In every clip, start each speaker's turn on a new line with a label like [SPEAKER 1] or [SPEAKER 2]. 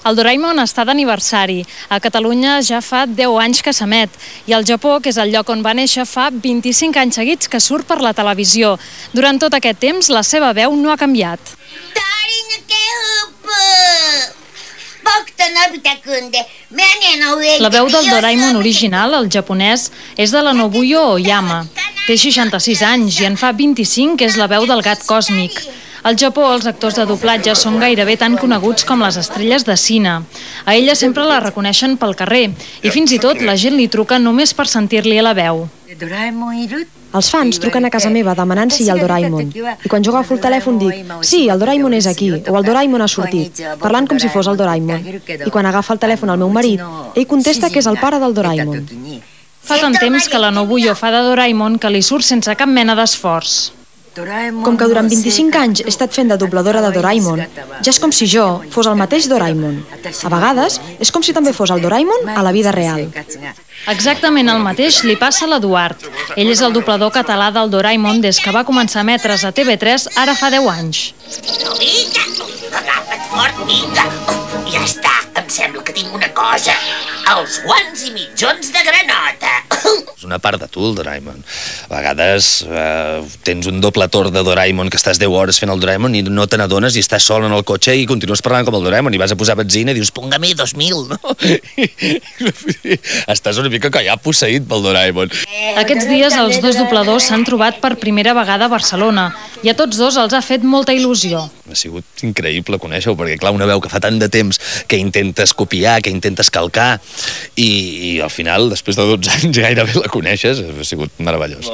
[SPEAKER 1] El Doraemon està d'aniversari. A Catalunya ja fa 10 anys que s'emet. I al Japó, que és el lloc on va néixer, fa 25 anys seguits que surt per la televisió. Durant tot aquest temps, la seva veu no ha canviat. La veu del Doraemon original, el japonès, és de la Nobuyo Oyama. Té 66 anys i en fa 25 que és la veu del gat còsmic. Al Japó, els actors de doblatge són gairebé tan coneguts com les estrelles de cine. A ella sempre la reconeixen pel carrer i fins i tot la gent li truca només per sentir-li la veu.
[SPEAKER 2] Els fans truquen a casa meva demanant si hi ha el Doraemon. I quan jo agafo el telèfon dic «Sí, el Doraemon és aquí» o «El Doraemon ha sortit», parlant com si fos el Doraemon. I quan agafa el telèfon al meu marit, ell contesta que és el pare del Doraemon.
[SPEAKER 1] Fa tant temps que la Nobuyo fa de Doraemon que li surt sense cap mena d'esforç.
[SPEAKER 2] Com que durant 25 anys he estat fent de dobladora de Doraemon, ja és com si jo fos el mateix Doraemon. A vegades és com si també fos el Doraemon a la vida real.
[SPEAKER 1] Exactament el mateix li passa a l'Eduard. Ell és el doblador català del Doraemon des que va començar a emetre's a TV3 ara fa 10 anys.
[SPEAKER 3] Vinga, agafa't fort, vinga. Ja està, em sembla que tinc una cosa. Els guants i mitjons de granota.
[SPEAKER 4] És una part de tu, el Doraemon. A vegades tens un doble torn de Doraemon, que estàs 10 hores fent el Doraemon i no te n'adones i estàs sol en el cotxe i continues parlant com el Doraemon i vas a posar benzina i dius, póngame 2000, no? Estàs una mica que ja posseït pel Doraemon.
[SPEAKER 1] Aquests dies els dos dobladors s'han trobat per primera vegada a Barcelona i a tots dos els ha fet molta il·lusió.
[SPEAKER 4] Ha sigut increïble conèixer-ho, perquè clar, una veu que fa tant de temps que intentes copiar, que intentes calcar i al final, després de 12 anys gairebé la coneixes, ha sigut meravellós.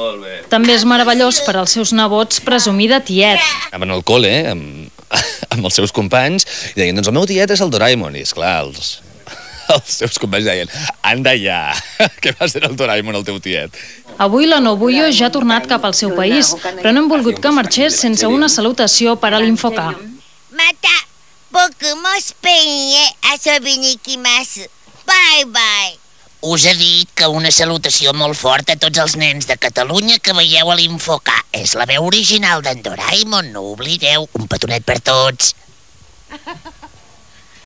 [SPEAKER 1] També és meravellós per als seus nebots presumir de tiet.
[SPEAKER 4] Anaven al col·le amb els seus companys i deien, doncs el meu tiet és el Doraemon, i esclar, els seus companys deien, anda ja, què va ser el Doraemon el teu tiet?
[SPEAKER 1] Avui la Nobuyo ja ha tornat cap al seu país, però no hem volgut que marxés sense una salutació per a l'Infoca.
[SPEAKER 5] Mata, boku mo Spain he asobi ni ikimasu. Bye bye.
[SPEAKER 3] Us he dit que una salutació molt forta a tots els nens de Catalunya que veieu a l'Infoca. És la veu original d'en Doraemon, no ho oblideu. Un petonet per tots.